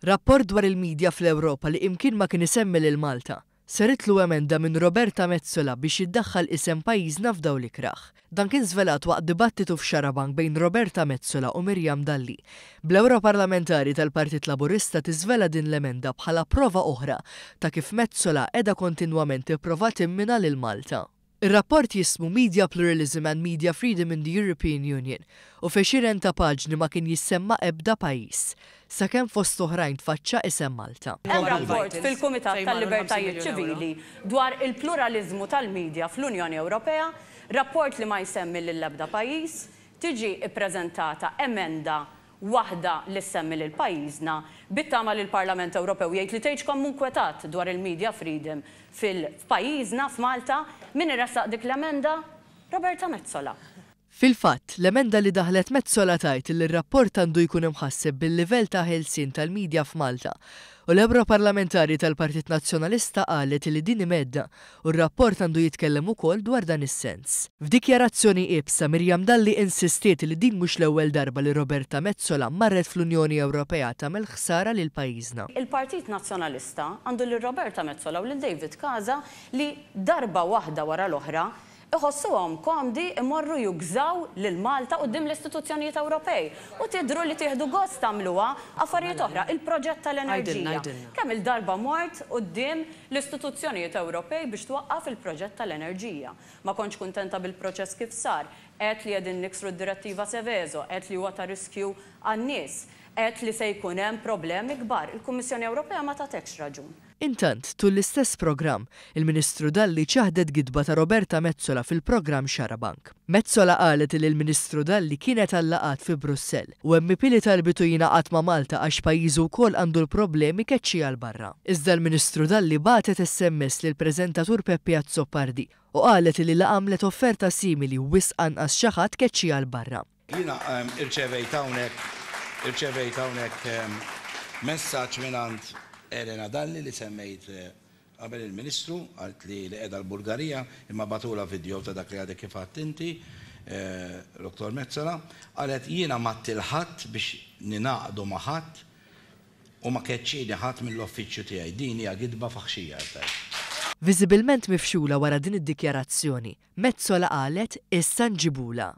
Rapport dwar il-midja fl-Ewropa li imkien ma kien isemmi lil Malta, saritlu emenda minn Roberta Metsola biex jiddaħħal isem pajjiżna f'dawl ikrah. Dan kien żvelat waqt dibattitu f'Xarabank bejn Roberta Metsola u Miriam Dalli, bl-Ewroparlamentari tal-Partit Laburista tiżvela din l-emenda bħala prova oħra ta' kif Metsola qiegħda kontinwament tipprova timmina lil Malta. Ir-rapport jismu Media Pluralism and Media Freedom in the European Union u f'għexieren ta' paġni ma kien jissemma ebda pajjiż, sakemm fost oħrajn tfaċċa isem Malta. Hemm rapport fil-Kumitat tal-Libertajiet Ċivili dwar il-pluraliżmu tal-media fl-Unjoni Ewropea, rapport li ma jsemmi lill-ebda pajjiż, tiġi ppreżentata emenda waħda li ssemmi lil pajjiżna, bit-tama li l-Parlament Ewropew jgħid li tgħidx kemm hu nkwetat dwar il-media freedom fil f'pajjiżna, f'Malta. Min iressaq dik l-emenda? Roberta Metsola. Fil-fatt, l-emenda li daħħlet Metsola tgħid li r-rapport għandu jkun imħasseb bil-livell ta' ħelsien tal-media f'Malta u l-Ewroparlamentari tal-Partit Nazzjonalista qalet li din hi mhedda u r-rapport għandu jitkellem ukoll dwar dan is-sens. F'dikjarazzjoni iebsa, Miriam Dalli insistiet li din mhux l-ewwel darba li Roberta Metsola marret fl-Unjoni Ewropea tagħmel ħsara lil pajjiżna. Il-Partit Nazzjonalista għandu lil Roberta Metsola u lil David Casa li darba waħda wara l-oħra iħossuhom komdi imorru jugżaw lil Malta quddiem l-istituzzjonijiet Ewropej. U tidhru li tieħdu gost tagħmluha affarijiet oħra. Il-proġett tal-enerġija. Kemm-il darba mort quddiem l-istituzzjonijiet Ewropej biex twaqqaf il-proġett tal-enerġija. Ma kontx kuntenta bil-proċess kif sar. Għedt li qegħdin niksru d-direttiva Seveso, għedt li huwa ta' riskju għan-nies, għedt li se jkun hemm problemi kbar. Il-Kummissjoni Ewropea ma tatekx raġun. Intant, tul l-istess programm, il-Ministru Dalli ċaħdet gidba ta' Roberta Metsola fil-programm Xarabank. Metsola qalet li l-Ministru Dalli kienet għal laqgħat fi Brussell u MEP li talbitu jingħaqad ma' Malta għax pajjiżu wkoll għandu l-problemi keċċiha 'l barra. Iżda l-Ministru Dalli bagħtet SMS lill-preżentatur Peppi Azzopardi u qalet li la għamlet offerta simili wisq anqas xi ħadd keċċiha 'l barra. Jiena irċevejt hawnhekk irċevejt hawnhekk messaġġ mingħand Elena Dalli li semmejt qabel il-Ministru, qaltli li qiegħda l-Bulgarija imma bagħtulha video ta' dak li għadek kif għedt inti, Dottor Metsola. Qalet jiena m'għedt 'il ħadd biex ningħaqdu ma' ħadd u ma keċċieni ħadd mill-uffiċċju tiegħi. Din hija gidba faħxija qed tgħid. Viżibilment mifxula wara din id-dikjarazzjoni, Metsola qalet issa nġibulha.